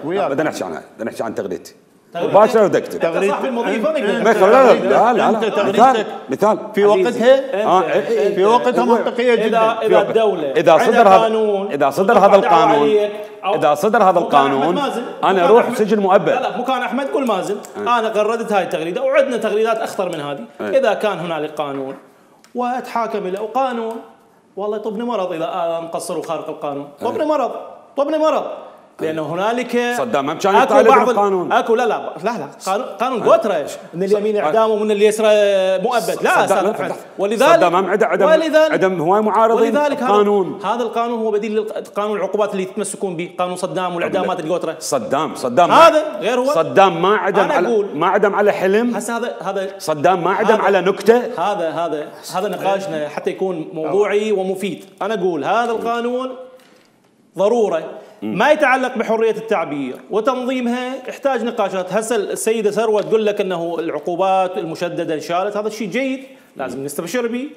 بدنا نحكي عنها، بدنا نحكي عن تغريدتي مباشرة ودك تكتب تغريدتك صاحب المضيفة لا مثال في وقتها في وقتها منطقية جدا. إذا الدولة إذا صدر هذا القانون أنا أروح سجن مؤبد. لا مكان أحمد قول مازن أنا غردت هاي التغريدة وعندنا تغريدات أخطر من هذه. إذا كان هنالك قانون وأتحاكم إلى قانون والله يطبني مرض إذا أنا مقصر وخارق القانون، طبني مرض لانه هنالك صدام ما كان يطالب بالقانون. اكو لا قانون قوتره من اليمين اعدام ومن اليسرى مؤبد. لا استاذ، ولذلك صدام عدم هواي معارضين القانون. هذا القانون هو بديل لقانون العقوبات اللي يتمسكون به، قانون صدام والاعدامات القوتره. صدام هذا غير هو. صدام ما عدم على حلم. هذا صدام ما عدم على نكته. هذا نقاشنا حتى يكون موضوعي ومفيد. انا اقول هذا القانون ضروره ما يتعلق بحرية التعبير وتنظيمها، يحتاج نقاشات. هسه السيدة ثروة تقول لك أنه العقوبات المشددة انشالت، هذا الشيء جيد لازم نستبشر به.